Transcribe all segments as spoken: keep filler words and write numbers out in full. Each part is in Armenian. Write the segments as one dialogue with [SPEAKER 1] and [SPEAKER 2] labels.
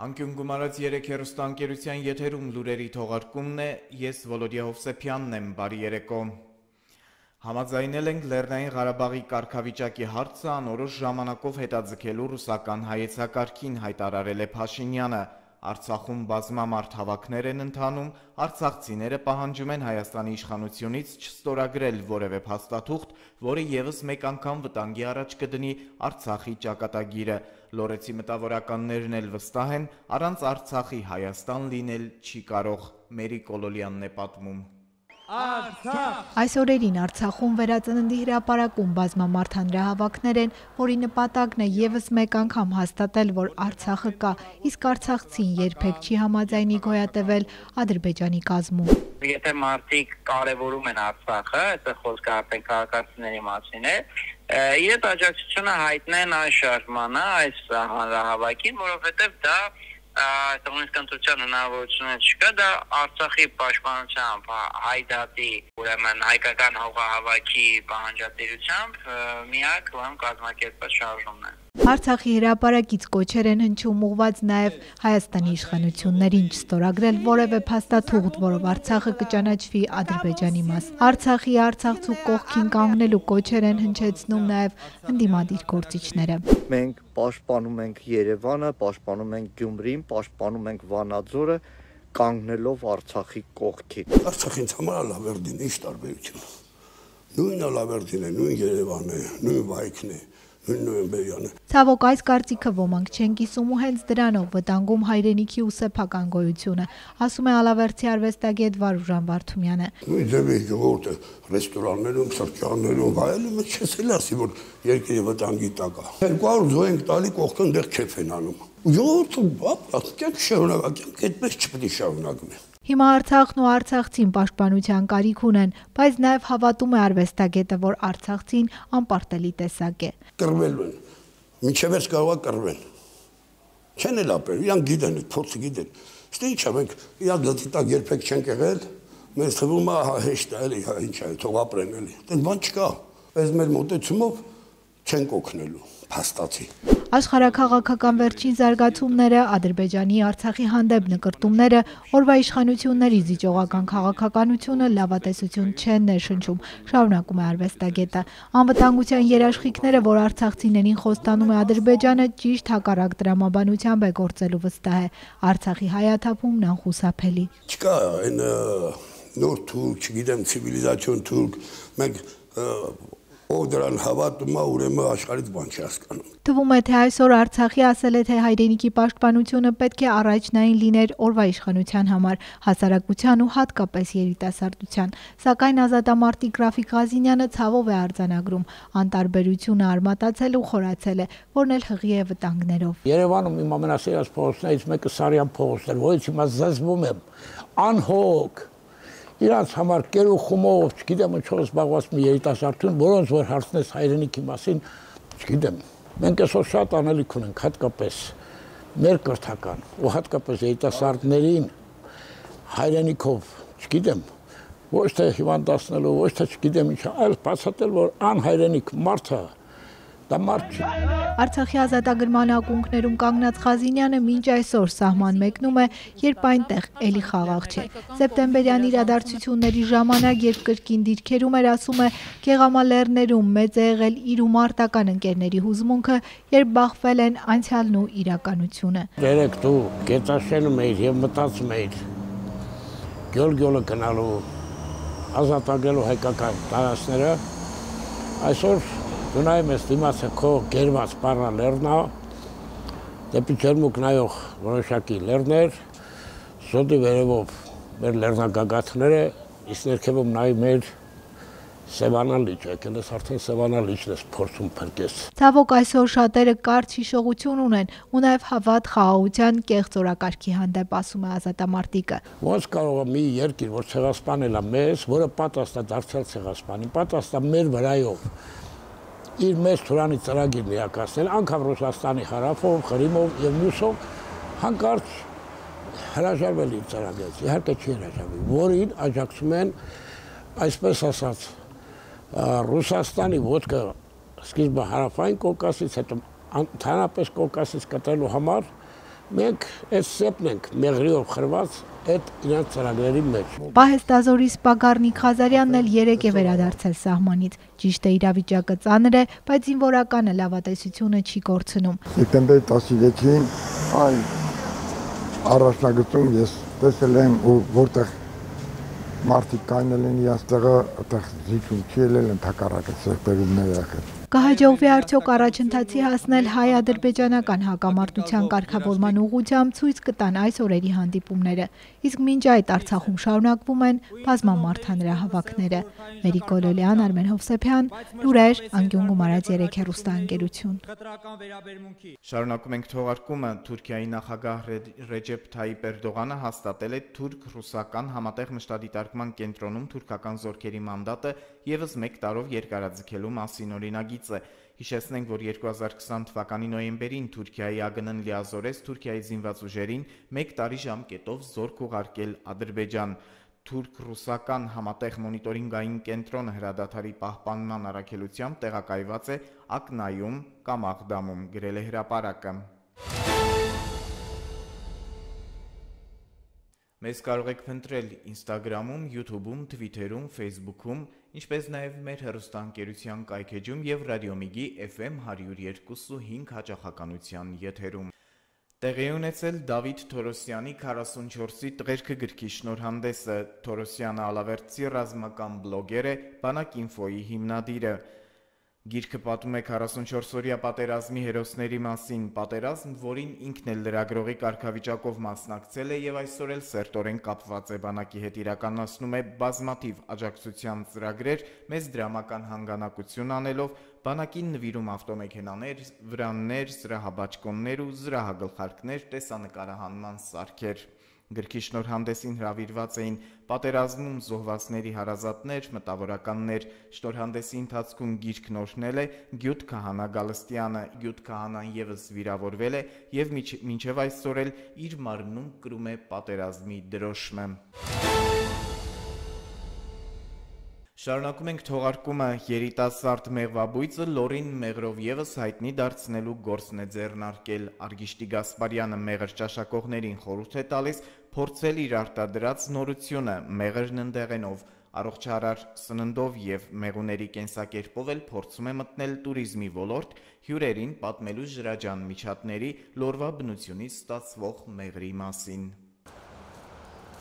[SPEAKER 1] Անկյուն գումարած երեք հեռուստաընկերության եթերում լուրերի թողարկումն է, ես Վոլոդիա Հովսեփյանն եմ, բարի երեկո։ Համաձայնել ենք Լեռնային Ղարաբաղի կարգավիճակի հարցը անորոշ ժամանակով հետաձգելու ռուսական հայեցակարգին, հայտարարել է Փաշինյանը։ Արցախում բազմամարդ հավաքներ են ընթանում, արցախցիները պահանջում են Հայաստանի իշխանությունից չստորագրել որևէ փաստաթուղթ, որը ևս մեկ անգամ վտանգի առաջ կդնի Արցախի ճակատագիրը։ Լորեցի մտավորականներն էլ վստահ են, առանց Արցախի Հայաստան լինել չի կարող։ Մերի Կոլոլյանն է պատմում։
[SPEAKER 2] Այս օրերին Արցախում վերածննդի հրապարակում բազմամարդ հանրահավաքներ են, որի նպատակն է ևս մեկ անգամ հաստատել, որ Արցախը կա, իսկ արցախցին երբեք չի համաձայնի գոյատևել Ադրբեջանի կազմում։
[SPEAKER 3] Եթե մարդիկ կարևորում են Արցախը, այդտեղ խոսքը արդեն քաղաքացիների մասին է, իրենց աջակցությունը հայտնեն այս շարժմանը, այս հանրահավաքին, որովհետև դա Տոնից կընտրության հնարավորությունը չկա, դա Արցախի պաշտպանությամբ, հայդատի, ուրեմն հայկական հողահավաքի պահանջատիրությամբ միակ կազմակերպված շարժումն է։
[SPEAKER 2] Արցախի հրապարակից կոչեր են հնչում ուղված նաև Հայաստանի իշխանություններին չստորագրել որևէ փաստաթուղթ, որով Արցախը կճանաչվի Ադրբեջանի մաս։ Արցախի արցախցու կողքին կանգնելու կոչեր են հնչեցնում նաև ընդդիմադիր գործիչները։
[SPEAKER 4] Մենք պաշտպանում ենք Երևանը, պաշտպանում ենք Գյումրին, պաշտպանում ենք Վանաձորը, կանգնելով Արցախի կողքին։
[SPEAKER 5] Արցախին համար Լավերդին ինչ տարբերություն։ Նույն Լավերդին է, նույն Երևանն է, նույն Վայքն է։
[SPEAKER 2] Ցավոք այս կարծիքը ոմանք չեն կիսում ու հենց դրանով վտանգում հայրենիքի ու սեփական գոյությունը, ասում է Ալավերդի արվեստագետ Վարուժան Վարդումյանը։
[SPEAKER 5] Նույն ձևի ժողովուրդը ռեստորաններում, սրճարաններում վայելում է, չես էլ ասի, որ երկրի վտանգի տակ է։ երկու հարյուր զոհ ենք տալի, կողքը այնտեղ քեֆ են անում։ Ժողովուրդը կյանք շարունակենք, այդպես չպետք է շարունակվի։
[SPEAKER 2] Հիմա Արցախն ու արցախցին պաշտպանության կարիք ունեն, բայց նաև հավատում է արվեստագետը, որ արցախցին անպարտելի տեսակ է։
[SPEAKER 5] Կռվելու են, մինչև ես կարող է կռվեն։ Չեն էլ ապրել, իրանք գիտեն, փորձը գիտեն։ Իսկ ի՞նչ է, մենք իրանք գլխի տակ երբեք չենք եղել, մեզ թվում է հեշտ է, էլի, ինչ է, թող ապրեն էլի։ Այդպես բան չկա։ Այս մեր մոտեցումով չենք օգնելու, փաստացի։
[SPEAKER 2] Աշխարհաքաղաքական վերջին զարգացումները, Ադրբեջանի Արցախի հանդեպ նկրտումները, օրվա իշխանությունների զիջողական քաղաքականությունը լավատեսություն չեն ներշնչում, շարունակում է արվեստագետը։ Անվտանգության երաշխիքները, որ արցախցիներին խոստանում է Ադրբեջանը, ճիշտ հակառակ տրամաբանությամբ է գործելու վստահ է։ Արցախի հայաթափումն անխուսափելի։
[SPEAKER 5] Չկա այն նոր թուրք, չգիտեմ, ցիվիլիզացիոն թուրք, մենք ով դրան հավատում է, ուրեմն աշխարհից բան չի հասկանում։
[SPEAKER 2] Թվում է, թե այսօր Արցախի ասել է, թե հայրենիքի պաշտպանությունը պետք է առաջնային լիներ օրվա իշխանության համար, հասարակության ու հատկապես երիտասարդության, սակայն ազատամարտիկ Ռաֆիկ Ղազինյանը ցավով է արձանագրում, անտարբերությունը արմատացել ու խորացել է, որն էլ հղի է վտանգներով։
[SPEAKER 6] Երևանում իմ ամենասիրած փողոցներից մեկը Սարյան փողոցն էր, որից հիմա զզվում եմ, անհոգ Իրանց համար կերու խումով, չգիտեմ ինչով զբաղված մի երիտասարդություն, որոնց որ հարցնես հայրենիքի մասին, չգիտեմ, մենք այսօր շատ անելիք ունենք, հատկապես մեր կրթական ու հատկապես երիտասարդներին հայրենիքով, չգիտեմ, ոչ թե հիվանդացնելու, ոչ թե չգիտեմ ինչա, այլ բացատրել, որ անհայրենիք մարդը դա մարդ չի։
[SPEAKER 2] Արցախի ազատագրման ակունքներում կանգնած Ղազինյանը մինչ այսօր սահման մեկնում է, երբ այնտեղ էլի խաղաղ չէ։ Սեպտեմբերյան իրադարձությունների ժամանակ, երբ կրկին դիրքերում էր, ասում է, Գեղամալեռներում մեծ է եղել իր ու մարտական ընկերների հուզմունքը, երբ բախվել են անցյալն ու իրականությունը։
[SPEAKER 6] Երեք դու գետաշենում էիր եւ մտածում էիր գյոլ-գյոլը գնալու, ազատագրելու հայկական տարածքները, այսօր դու նայում ես դիմացը քո գերված պարնա լեռնա, դեպի ջերմուկ նայող որոշակի լեռներ, զոդի վերևով մեր լեռնագագաթները, իսկ ներքևում նայում մեր Սևանա լիճը, եկել ես արդեն Սևանա լիճն ես փորձում փրկես։
[SPEAKER 2] Ցավոք այսօր շատերը կարճ հիշողություն ունեն ու նաև հավատ խաղաղության կեղծ օրակարգի հանդեպ, ասում է ազատամարտիկը։
[SPEAKER 6] Ոնց կարող է մի երկիր, որ ցեղասպանել է մեզ, որը պատասխան է դարձյալ ցեղասպանի, պատասխան մեր վրայով իր մեծ Թուրանի ծրագիրն իրականացնել, անգամ Ռուսաստանի հարավով, Ղրիմով եւ մյուսով հանկարծ հրաժարվել իր ծրագրից, իհարկե չի հրաժարվել, որին աջակցում են, այսպես ասած, Ռուսաստանի ոտքը սկիզբը հարավային Կովկասից, հետո ընդհանրապես Կովկասից կտրելու համար Մենք այս սեպն ենք մեղրիով խրված այդ իրանց ծրագրերի մեջ։
[SPEAKER 2] Պահեստազորի սպա Գառնիկ Ղազարյանն էլ երեկ է վերադարձել սահմանից։ Ճիշտ է, իրավիճակը ծանր է, բայց զինվորականը լավատեսությունը չի կորցնում։
[SPEAKER 7] Սեպտեմբերի տասնյոթին այ առաջնագծում ես տեսել եմ ու որտեղ մարդիկ կայնել են իրաց տեղը, այդտեղ զիջում չի ելել, ընդհակառակը սեղբերումներ եղել։
[SPEAKER 2] Կհաջողվի արդյոք առաջընթացի հասնել հայ-ադրբեջանական հակամարտության կարգավորման ուղղությամբ ցույց կտան այս օրերի հանդիպումները, իսկ մինչ այդ Արցախում շարունակվում են բազմամարդանրահավաքները։ Մերիկ Գոլոլյան, Արմեն Հովսեփյան, լուրեր, անկյուն գումարած երեք հեռուստաընկերություն։
[SPEAKER 1] Շարունակում ենք թողարկումը։ Թուրքիայի նախագահ Ռեջեփ Թայիպ Էրդողանը հաստատել է թուրք-ռուսական համատեղ մշտադիտարկման կենտրոնում թուրքական զորքերի մանդատը ևս մեկ տարով երկարաձգելու մասին օրինագիծը։ Հիշեցնենք, որ երկու հազար քսան թվականի նոյեմբերին Թուրքիայի ԱԳՆ-ն լիազորեց Թուրքիայի զինված ուժերին մեկ տարի ժամկետով զորք ուղարկել Ադրբեջան։ Թուրք-ռուսական համատեղ մոնիտորինգային կենտրոնը հրադադարի պահպանման առաքելությամբ տեղակայված է Ակնայում կամ Աղդամում, գրել է հրապարակը։ Մեզ կարող եք փնտրել Instagram-ում, YouTube-ում, Twitter-ում, Facebook-ում, ինչպես նաև մեր հեռուստաընկերության կայքեջում եւ Ռադիոմիգի Էֆ Էմ հարյուր երկու ու հինգ հաճախականության եթերում։ Տեղի ունեցել Դավիթ Թորոսյանի քառասունչորսի տղերքը գրքի շնորհանդեսը։ Թորոսյանը ալավերդցի ռազմական բլոգեր է, Բանակ ինֆոյի հիմնադիրը։ Գիրքը պատմում է քառասունչորսօրյա պատերազմի հերոսների մասին, պատերազմ, որին ինքն էլ լրագրողի կարգավիճակով մասնակցել է եւ այսօր էլ սերտորեն կապված է բանակի հետ, իրականացնում է բազմաթիվ աջակցության ծրագրեր, մեծ դրամական հանգանակություն անելով, բանակին նվիրում ավտոմեքենաներ, վրաններ, զրահաբաճկոններ ու զրահագլխարկներ, տեսանկարահանման սարքեր։ Գրքի շնորհանդեսին հրավիրված էին պատերազմում զոհվածների հարազատներ, մտավորականներ։ Շնորհանդեսի ընթացքում գիրքն օրհնել է Գյուտ Քահանա Գալստյանը։ Գյուտ Քահանան ևս վիրավորվել է եւ մինչեւ այսօր էլ իր մարմնում կրում է պատերազմի դրոշմը։ Շարունակում ենք թողարկումը։ Երիտասարդ մեղվաբույծը լորին մեղրով ևս հայտնի դարձնելու գործն է ձեռնարկել։ Արգիշտի Գասպարյանը մեղր ճաշակողներին խորհուրդ է տալիս փորձել իր արտադրած նորությունը մեղրն ընդեղենով, առողջարար սննդով եւ մեղուների կենսակերպով էլ փորձում է մտնել туриզմի ոլորտ, հյուրերին պատմելու ջրաջան միջատների լորվա բնությունից ստացվող մեղրի մասին։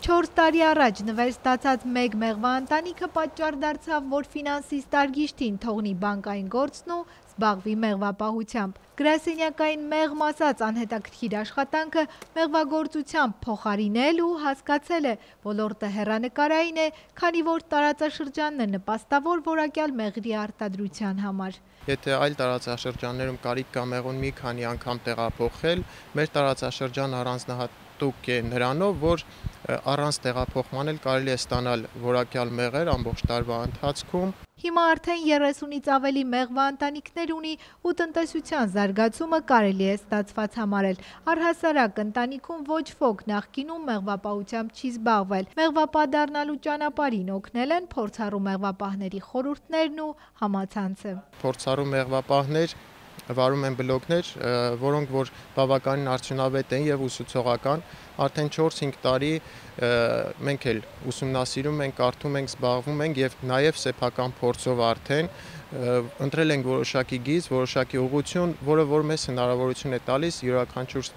[SPEAKER 2] Չորս տարի առաջ նվեր ստացած մեկ մեղվա ընտանիքը պատճառ դարձավ, որ ֆինանսիստ Արգիշտին թողնի բանկային գործն ու զբաղվի մեղվապահությամբ։ Գրասենյակային մեղմ ասած անհետաքրքիր աշխատանքը մեղվագործությամբ փոխարինել ու հասկացել է, ոլորտը հեռանկարային է, քանի որ տարածաշրջանն է նպաստավոր որակյալ մեղրի արտադրության համար։
[SPEAKER 8] Եթե այլ տարածաշրջաններում կարիք կա մեղուն մի քանի անգամ տեղափոխել, մեր տարածաշրջան առանձնահատուկ է նրանով, որ առանց տեղափոխման էլ կարելի է ստանալ որակյալ մեղր ամբողջ տարվա ընթացքում։
[SPEAKER 2] Հիմա արդեն երեսունից ավելի մեղվա ընտանիքներ ունի ու տնտեսության զարգացումը կարելի է ստացված համարել։ Առհասարակ ընտանիքում ոչ ոք նախկինում մեղվապահությամբ չի զբաղվել։ Մեղվապահ դառնալու ճանապարհին օգնել են փորձառու մեղվապահների խորհուրդներն ու համացանցը։
[SPEAKER 8] Փորձառու մեղվապահներ վարում են բլոգներ, որոնք որ բավականին արդյունավետ են եւ ուսուցողական, արդեն չորս-հինգ տարի մենք էլ ուսումնասիրում ենք, կարդում ենք, զբաղվում ենք եւ նաեւ սեփական փորձով արդեն ընտրել ենք որոշակի գիծ, որոշակի ուղղություն, որը որ մեզ հնարավորություն է տալիս յուրաքանչյուր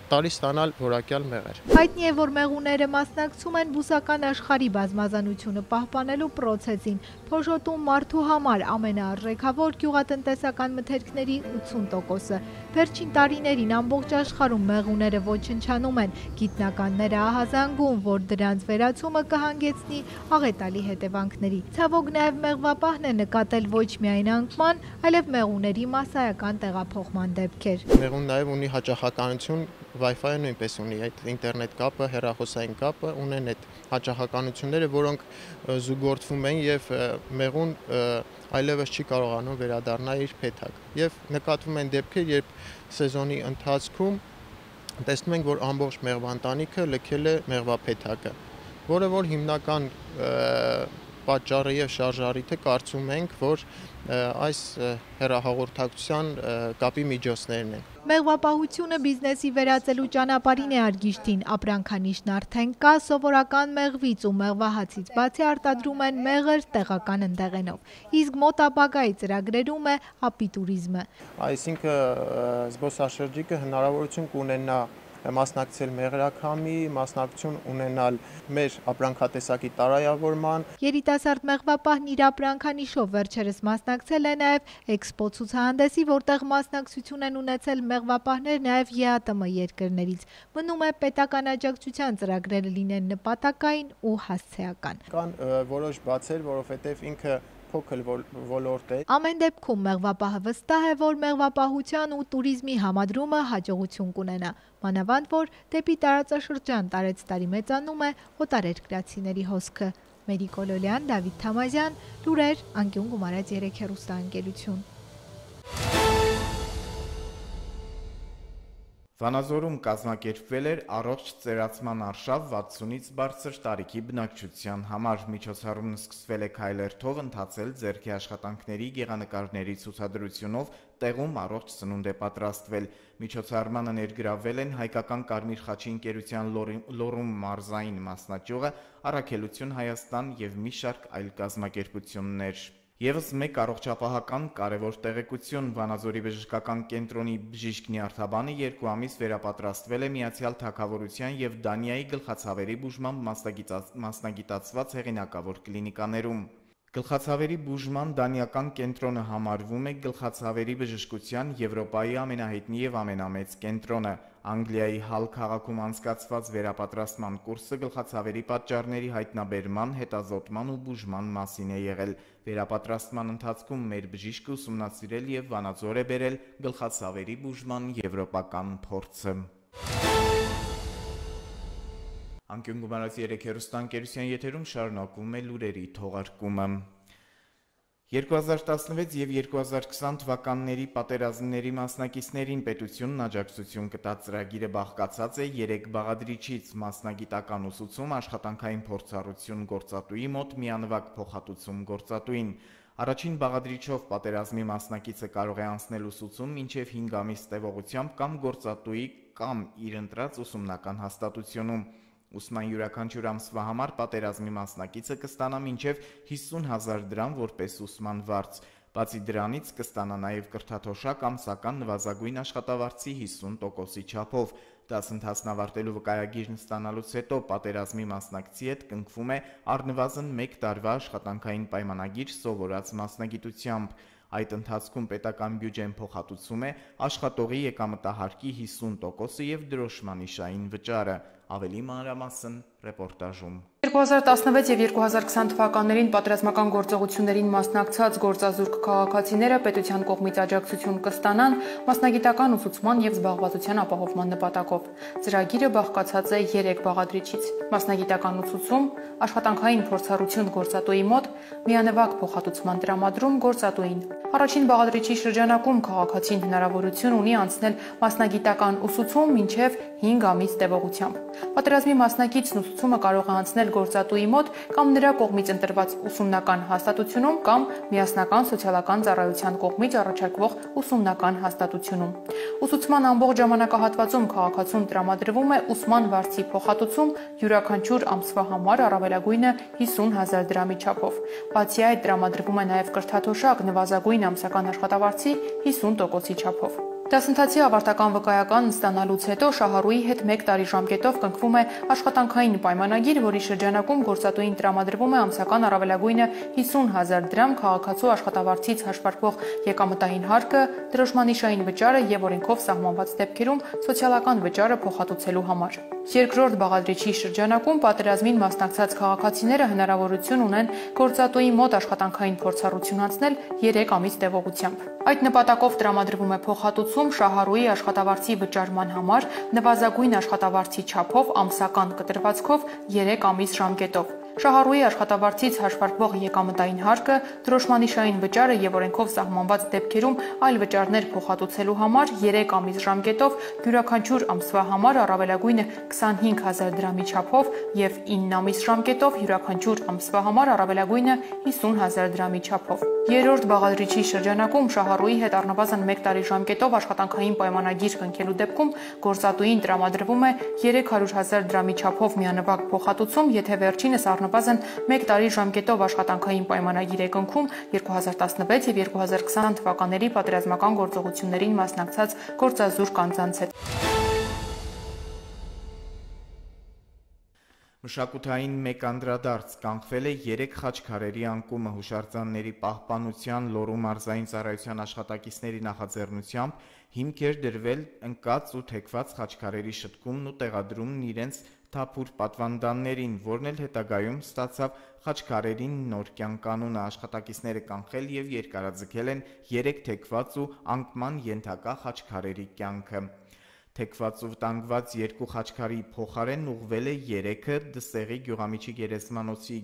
[SPEAKER 8] տարի ստանալ որակյալ մեղր։
[SPEAKER 2] Հայտնի է, որ մեղուները մասնակցում են բուսական աշխարհի բազմազանությունը պահպանելու process-ին, փոշոտում մարդու համար ամենաարժեքավոր գյուղատնտեսական մթերքների ութսուն տոկոսը։ Վերջին տարիներին ամբողջ աշխարհում մեղուները ոչնչանում են, գիտնականները ահազանգում, որ դրանց վերացումը կհանգեցնի աղետալի հետևանքների։ Ցավոք նաև մեղվապահն է նկատել ոչ միայն անկման, այլև մեղուների մասսայական տեղափոխման դեպքեր։
[SPEAKER 8] Մեղուն նաև ունի հաճախականություն, Wi-Fi-ը նույնպես ունի այդ ինտերնետ կապը, հեռախոսային կապը, ունեն այդ հաճախականությունները, որոնք զուգորդվում են եւ մեղուն այլևս չի կարողանում վերադառնալ իր փեթակ։ Եվ նկատվում են դեպքեր, երբ սեզոնի ընթացքում տեսնում ենք, որ ամբողջ մեղվանտանիքը լքել է մեղվափեթակը, որը որ հիմնական պատճառը եւ շարժառիթը կարծում ենք, որ այս հեռահաղորդակցության կապի միջոցներն են։
[SPEAKER 2] Մեղվապահությունը բիզնեսի վերածելու ճանապարհին է Արգիշտին, ապրանքանիշն արդեն կա, սովորական մեղվից ու մեղվահացից բացի արտադրում են մեղր տեղական ընդեղենով, իսկ մոտ ապագայի ծրագրերում է ապիտուրիզմը։
[SPEAKER 8] Այսինքն զբոսաշրջիկը հնարավորություն կունենա մասնակցել մեղրաքամի, մասնակցություն ունենալ մեր ապրանքատեսակի տարայավորման։
[SPEAKER 2] Երիտասարդ մեղվապահն իր ապրանքանիշով վերջերս մասնակցել է նաև էքսպո ցուցահանդեսի, որտեղ մասնակցություն են ունեցել մեղվապահներ նաև ԵԱՏՄ երկրներից։ Մնում է պետական աջակցության ծրագրերը լինեն նպատակային ու հասցեական։
[SPEAKER 8] Կան որոշ բացեր, որովհետև ինքը փոքր ոլորտ է։
[SPEAKER 2] Ամեն դեպքում մեղվապահը վստահ է, որ մեղվապահության ու տուրիզմի համադրումը հաջողություն կունենա։ Մանավանդ որ դեպի տարածաշրջան տարեցտարի մեծանում է օտարերկրացիների հոսքը։ Մերի Կոլոլյան, Դավիթ Թամազյան, լուրեր, անկյուն գումարած երեք հեռուստաընկերություն։
[SPEAKER 1] Վանաձորում կազմակերպվել էր առողջ ծերացման արշավ վաթսունից բարձր տարիքի բնակչության համար։ Միջոցառումն սկսվել է քայլերթով, ընթացել ձեռքի աշխատանքների գեղանկարների ցուցադրությունով, տեղում առողջ սնունդ է պատրաստվել։ Միջոցառմանը ներգրավվել են Հայկական Կարմիր խաչի ընկերության Լոռու մարզային մասնաճյուղը, Առաքելություն Հայաստան և մի շարք այլ կազմակերպություններ։ Եվս մեկ առողջապահական կարևոր տեղեկություն Վանաձորի բժշկական կենտրոնի բժիշկ Նյարդաբանը երկու ամիս վերապատրաստվել է Միացյալ Թագավորության և Դանիայի գլխացավերի բուժման մասնագիտացված հեղինակավոր կլինիկաներում։ Գլխացավերի բուժման դանիական կենտրոնը համարվում է գլխացավերի բժշկության Եվրոպայի ամենահայտնի և ամենամեծ կենտրոնը։ Անգլիայի Հալ քաղաքում անցկացված վերապատրաստման կուրսը գլխացավերի պատճառների հայտնաբերման, հետազոտման ու բուժման մասին է եղել։ Վերապատրաստման ընթացքում մեր բժիշկը ուսումնասիրել և Վանաձոր է բերել գլխացավերի բուժման եվրոպական փորձը։ Անկյուն գումարած երեք հեռուստաընկերության եթերում շարունակվում է լուրերի թողարկումը։ երկու հազար տասնվեց և երկու հազար քսան թվականների պատերազմների մասնակիցներին պետությունն աջակցություն կտա ծրագիրը բաղկացած է երեք բաղադրիչից՝ մասնագիտական ուսուցում, աշխատանքային փորձառություն գործատուի մոտ, միանվագ փոխհատուցում գործատուին։ Առաջին բաղադրիչով պատերազմի մասնակիցը կարող է անցնել ուսուցում մինչև հինգ ամիս տևողությամբ կամ գործատուի կամ իր ընտրած ուսումնական հաստատությունում։ Ուսման յուրաքանչյուր ամսվա համար պատերազմի մասնակիցը կստանա մինչև հիսուն հազար դրամ որպես ուսման վարձ։ Բացի դրանից կստանա նաև կրթաթոշակ ամսական նվազագույն աշխատավարձի հիսուն տոկոսի չափով։ Դասընթացն ավարտելու վկայագիրն ստանալուց հետո պատերազմի մասնակցի հետ կնքվում է առնվազն մեկ տարվա աշխատանքային պայմանագիր սովորած մասնագիտությամբ։ Այդ ընթացքում պետական բյուջեն փոխհատուցում է աշխատողի եկամտահարկի հիսուն տոկոսը և դրոշմանիշային վճարը։ Ավելի մանրամասն ռեպորտաժում։
[SPEAKER 9] երկու հազար տասնվեց և երկու հազար քսան թվականներին պատերազմական գործողություններին մասնակցած գործազուրկ քաղաքացիները պետության կողմից աջակցություն կստանան մասնագիտական ուսուցման և զբաղվածության ապահովման նպատակով։ Ծրագիրը բաղկացած է երեք բաղադրիչից՝ մասնագիտական ուսուցում, աշխատանքային փորձառություն գործատուի մոտ, միանվագ փոխհատուցման տրամադրում գործատուին։ Առաջին բաղադրիչի շրջանակում քաղաքացին հնարավորություն ունի անցնել մասնագիտական ուսուցում մինչև հինգ ամիս տևողությամբ։ Պատերազմի մասնակիցն ուսուցումը կարող է անցնել գործատուի մոտ կամ նրա կողմից ընտրված ուսումնական հաստատությունում կամ միասնական սոցիալական ծառայության կողմից առաջարկվող ուսումնական հաստատությունում։ Ուսուցման ամբողջ ժամանակահատվածում քաղաքացուն տրամադրվում է ուսման վարձի փոխհատուցում յուրաքանչյուր ամսվա համար առավելագույնը հիսուն հազար դրամի չափով։ Բացի այդ տրամադրվում է նաև կրթաթոշակ նվազագույն ամսական աշխատավարձի հիսուն տոկոսի չափով։ Դասընթացի ավարտական վկայականն ստանալուց հետո շահառուի հետ մեկ տարի ժամկետով կնքվում է աշխատանքային պայմանագիր, որի շրջանակում գործատուին տրամադրվում է ամսական առավելագույնը հիսուն հազար դրամ քաղաքացու աշխատավարձից հաշվարկվող եկամտային հարկը, դրոշմանիշային վճարը և օրենքով սահմանված դեպքերում սոցիալական վճարը փոխհատուցելու համար։ Երկրորդ բաղադրիչի շրջանակում պատերազմին մասնակցած քաղաքացիները հնարավորություն ունեն գործատուի մոտ աշխատանքային փորձառություն անցնել երեք ամիս տևողությամբ։ Այդ նպատակով տրամադրվում է փոխհատուցում շահառուի աշխատավարձի վճարման համար նվազագույն աշխատավարձի չափով ամսական կտրվածքով երեք ամիս ժամկետով։ Շահառուի աշխատավարձից հաշվարկվող եկամտային հարկը, դրոշմանիշային վճարը եւ օրենքով սահմանված դեպքերում այլ վճարներ փոխհատուցելու համար երեք ամիս ժամկետով յուրաքանչյուր ամսվա համար առավելագույնը քսանհինգ հազար դրամի չափով եւ ինը ամիս ժամկետով յուրաքանչյուր ամսվա համար առավելագույնը հիսուն հազար դրամի չափով։ Երրորդ բաղադրիչի շրջանակում Շահառուի հետ առնվազն մեկ տարի ժամկետով աշխատանքային պայմանագիր կնքելու դեպքում գործատուին տրամադրվում է երեք հարյուր հազար դրամի չափով միանվագ փոխհատուցում, եթե վերջինս առնվազն մեկ տարի ժամկետով աշխատանքային պայմանագիր է կնքում երկու հազար տասնվեց եւ երկու հազար քսան թվականների պատերազմական գործողություններին մասնակցած գործազուրկ անձանց հետ։
[SPEAKER 1] Մշակութային մեկ անդրադարձ կանխվել է երեք խաչքարերի անկումը հուշարձանների պահպանության Լոռու մարզային ծառայության աշխատակիցների նախաձեռնությամբ հիմք էր դրվել ընկած ու թեքված խաչքարերի շտկումն ու տեղադրումն իրենց թափուր պատվանդաններին, որն էլ հետագայում ստացավ խաչքարերին նոր կյանք անունը։ Աշխատակիցները կանխել եւ երկարաձգել են երեք թեքված ու անկման ենթակա խաչքարերի կյանքը։ Թեքված ու վտանգված երկու խաչքարի փոխարեն ուղղվել է երեքը Դսեղի գյուղամիջի գերեզմանոցի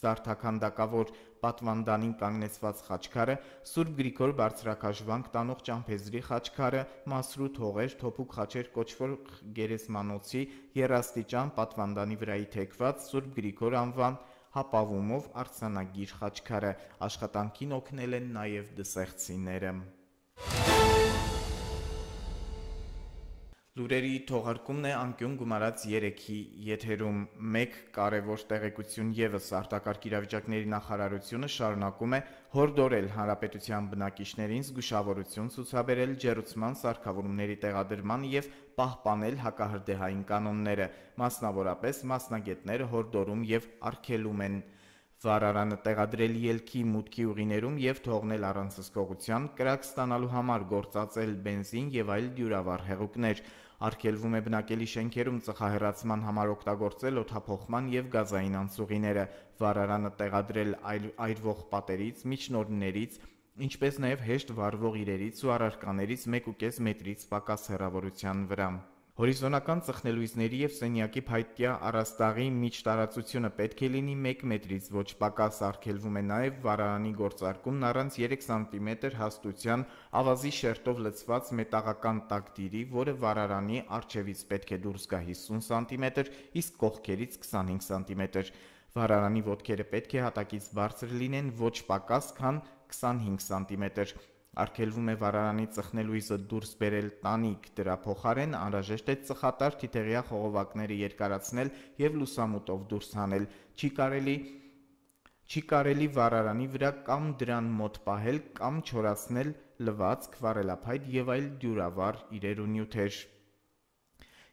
[SPEAKER 1] զարդաքանդակավոր պատվանդանին կանգնեցված խաչքարը, Սուրբ Գրիգոր բարձրակաշվանք տանող Ճամփեզրի խաչքարը, Մասրուտ Հողեր թոփուկ խաչեր կոչվող գերեզմանոցի եռաստիճան պատվանդանի վրայի թեքված Սուրբ Գրիգոր անվան հապավումով արձանագիր խաչքարը։ Աշխատանքին օգնել են նաև դսեղցիները։ Լուրերի թողարկումն է անկյուն գումարած երեքի եթերում։ Մեկ կարևոր տեղեկություն ևս արտակարգ իրավիճակների նախարարությունը շարունակում է հորդորել հանրապետության բնակիչներին զգուշավորություն ցուցաբերել ջեռուցման սարքավորումների տեղադրման եւ պահպանել հակահրդեհային կանոնները, մասնավորապես մասնագետները հորդորում եւ արգելում են վարարանը տեղադրել ելքի մուտքի ուղիներում եւ թողնել առանց հսկողության, կրակ ստանալու համար գործածել բենզին եւ այլ դյուրավառ հեղուկներ։ Արգելվում է բնակելի շենքերում ծխահեռացման համար օգտագործել օդափոխման եւ գազային անցուղիները, վարարանը տեղադրել այրվող պատերից, միջնորդներից, ինչպես նաեւ հեշտ վառվող իրերից ու առարկաներից մեկ ու կես մետրից պակաս հեռավորության վրա։ Հորիզոնական ծխնելույզների եւ սենյակի փայտյա առաստաղի միջտարածությունը պետք է լինի մեկ մետրից ոչ պակաս։ Արգելվում է նաեւ վարարանի գործարկումն առանց երեք սանտիմետր հաստության ավազի շերտով լցված մետաղական տակդիրի, որը վարարանի առջևից պետք է դուրս գա հիսուն սանտիմետր, իսկ կողքերից քսանհինգ սանտիմետր։ Վարարանի ոտքերը պետք է հատակից բարձր լինեն ոչ պակաս, քան քսանհինգ սանտիմետր։ Արգելվում է վարարանի ծխնելույզը դուրս բերել տանիք, դրա փոխարեն անհրաժեշտ է ծխատար թիթեղյա խողովակները երկարացնել եւ լուսամուտով դուրս հանել։ Չի կարելի Չի կարելի վարարանի վրա կամ դրան մոտ պահել կամ չորացնել լվացք, վառելափայտ եւ այլ դյուրավառ իրեր ու նյութեր։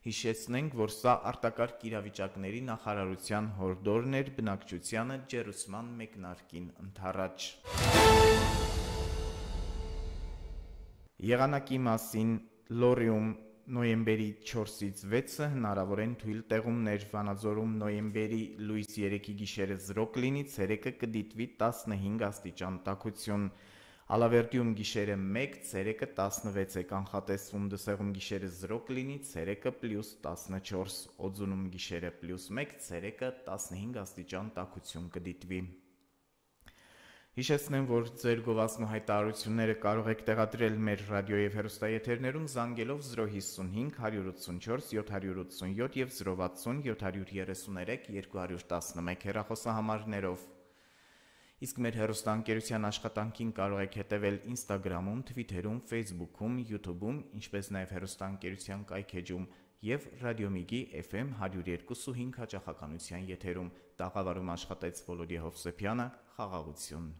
[SPEAKER 1] Հիշեցնենք, որ սա արտակարգ իրավիճակների նախարարության հորդորն էր բնակչությանը ջեռուցման մեկնարկին ընդառաջ։ Եղանակի մասին Լոռիում նոյեմբերի չորսից վեցը հնարավոր են թույլ տեղումներ, Վանաձորում նոյեմբերի լույս երեքի գիշերը զրո կլինի, ցերեկը կդիտվի տասնհինգ աստիճան տաքություն, Ալավերդիում գիշերը մեկ, ցերեկը տասնվեց է կանխատեսվում, Դսեղում գիշերը զրո կլինի, ցերեկը պլյուս տասնչորս, Օձունում գիշերը պլյուս մեկ, ցերեկը տասնհինգ աստիճան տաքություն կդիտվի։ Հիշեցնեմ, որ ձեր գովազդն ու հայտարարությունները կարող եք տեղադրել մեր ռադիո եւ հեռուստաեթերներում զանգելով զրո հիսունհինգ հարյուր ութսունչորս յոթ ութսունյոթ եւ զրո վաթսուն յոթ երեսուներեք երկու տասնմեկ հեռախոսահամարներով։ Իսկ մեր հեռուստաընկերության աշխատանքին կարող եք հետևել Instagram-ում, Twitter-ում, Facebook-ում, YouTube-ում, ինչպես նաեւ հեռուստաընկերության կայքեջում եւ Ռադիոմիգի Էֆ Էմ հարյուր երկու ու հինգ հաճախականության եթերում։ Տաղավարում աշխատեց Վոլոդիա Հովսեփյանը, խաղաղություն։